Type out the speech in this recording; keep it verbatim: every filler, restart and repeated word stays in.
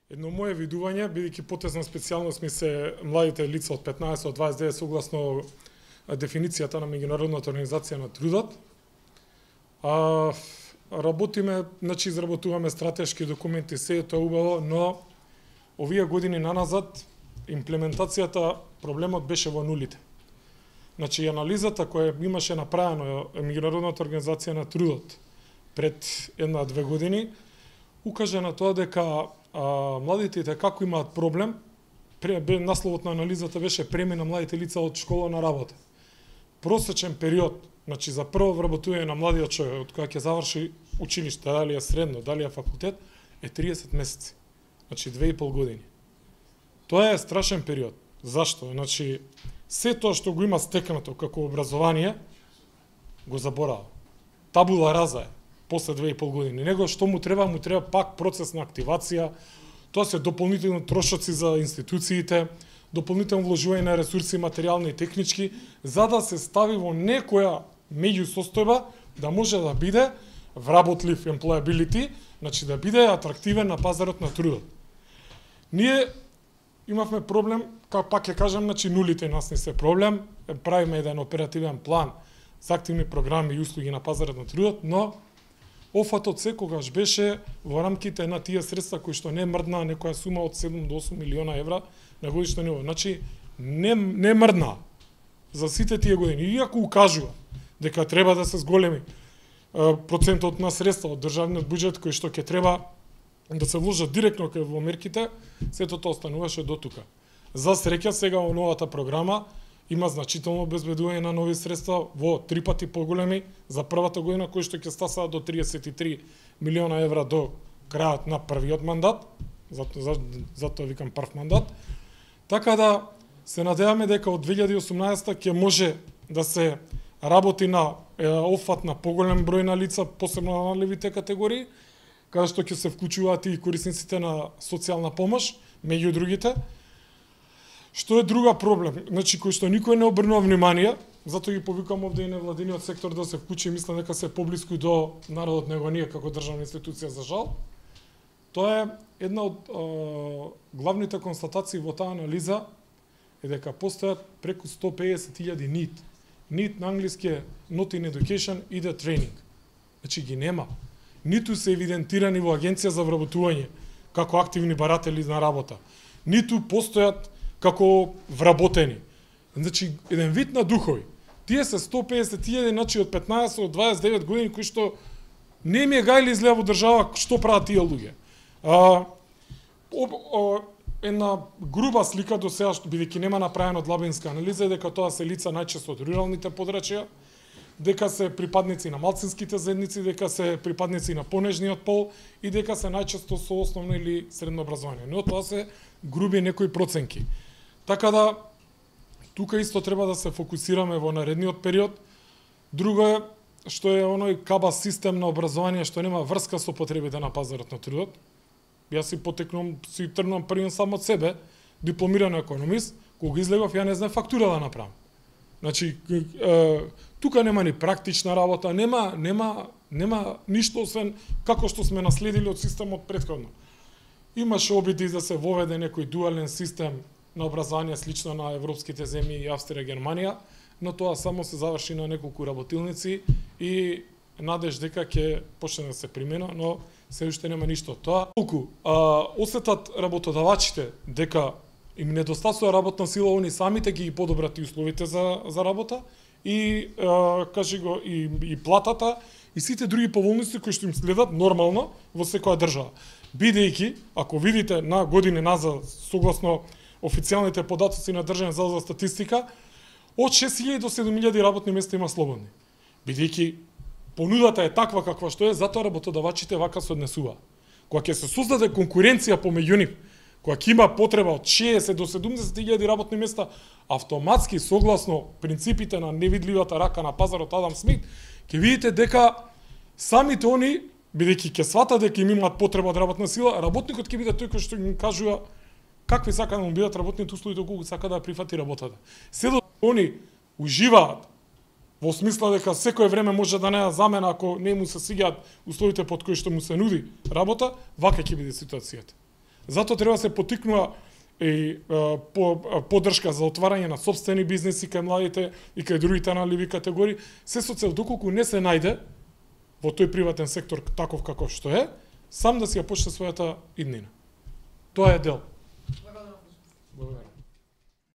Едно мое видување, бидејќи потезна специјалност ми се младите лица од петнаесет до дваесет и девет согласно дефиницијата на Меѓународната организација на трудот. А, работиме, значи изработуваме стратешки документи, се тоа убаво, но овие години наназад имплементацијата, проблемот беше во нулите. Значи анализата која имаше направено Меѓународната организација на трудот пред една-две години укаже на тоа дека а, младите како имаат проблем, насловот на анализата беше премина младите лица од школа на работа. Просечен период, значи за прво вработување на младиот човек од кога ќе заврши училиште, дали е средно, дали е факултет, е триесет месеци. Значи две и пол години. Тоа е страшен период. Зашто? Значи се тоа што го има стекнато како образование го заборава. Табула раза е после две и пол години. Него што му треба, му треба пак процес на активација, тоа се дополнителни трошоци за институциите, дополнително вложување на ресурси материјални и технички, за да се стави во некоја меѓусостојба да може да биде вработлив employability, значи да биде атрактивен на пазарот на трудот. Ние имавме проблем, како пак ќе кажам, значи нулите нас не се проблем, правиме еден оперативен план за активни програми и услуги на пазарот на трудот, но офатот секогаш беше во рамките на тие средства кои што не мрдна некоја сума од седум до осум милиона евра на годишно ниво. Значи не не мрдна за сите тие години. Иако укажува дека треба да се зголеми процентот на средства од државниот буџет кој што ќе треба да се вложат директно во мерките, сето тоа остануваше до тука. За среќа сега во новата програма има значително обезбедување на нови средства во три пати поголеми за првата година, кои што ќе стасаат до триесет и три милиона евра до крајот на првиот мандат, затоа за, за викам прв мандат. Така да се надеваме дека од две илјади и осумнаесета ќе може да се работи на е, офат на поголем број на лица, посебно на најлевите категории, каде што ќе се вклучуваат и корисниците на социјална помош, меѓу другите. Што е друга проблем, значи кој што никој не обрнува внимание, затоа ги повикам овде и невладиниот сектор да се вклучи, мислам дека се поблиску до народот него ние како државна институција за жал. Тоа е една од е, главните констатации во таа анализа е дека постојат преку сто педесет илјади НИД. НИД на англиски е Not in Education и the Training. Значи ги нема. Ниту се евидентирани во агенција за вработување како активни баратели на работа. Ниту постојат како вработени. Значи, еден вид на духови. Тие се сто педесет илјади, значи од петнаесет до дваесет и девет години, кои што не ми е гајли изгледа во држава што прават тие луѓе. А, об, о, една груба слика до сега, бидејќи нема направена длабинска анализа, е дека тоа се лица најчесто од руралните подрачја, дека се припадници на малцинските заедници, дека се припадници на понежниот пол и дека се најчесто со основно или средно образование. Но тоа се груби некои проценки. Така да, тука исто треба да се фокусираме во наредниот период. Друго е, што е оној кабас систем на образование што нема врска со потребите на пазарот на трудот. Јас си потекнувам, си тргнувам првен сам од себе, дипломиран економист, кога излегов ја не знам фактура да направам. Значи, е, тука нема ни практична работа, нема, нема, нема ништо освен како што сме наследили од системот претходно. Имаше обиди да се воведе некој дуален систем на образование слично на европските земји и Австрија и Германија, но тоа само се заврши на неколку работилници и надеж дека ќе почне да се примена, но се уште нема ништо од тоа. Колку а, осетат работодавачите дека им недостасува работна сила, они самите ги подобрат и условите за за работа и а, кажи го и и платата и сите други поволности кои што им следат нормално во секоја држава. Бидејќи, ако видите на години назад, согласно официјалните податоци на Државен завод за статистика, од шест илјади до седум илјади работни места има слободни. Бидејќи понудата е таква каква што е, затоа работодавачите вака се однесува. Кога ќе се создаде конкуренција помеѓу нив, кога ќе има потреба од шеесет до седумдесет илјади работни места, автоматски согласно принципите на невидливата рака на пазарот Адам Смит, ќе видите дека самите они, бидејќи ќе сватат дека им имаат потреба од работна сила, работникот ќе биде тој кој што им кажува какви сака да му бидат работните услови, доколку сака да прифати работата. Се до они уживаат во смисла дека секое време може да не замена ако не му се свиѓаат условите под кои што му се нуди работа, вака ќе биде ситуацијата. Затоа треба да се потикнува и по поддршка за отварање на сопствени бизнеси кај младите и кај другите наливи категории, се со цел доколку не се најде во тој приватен сектор таков каков што е, сам да си ја почне својата иднина. Тоа е дел. Благодарам.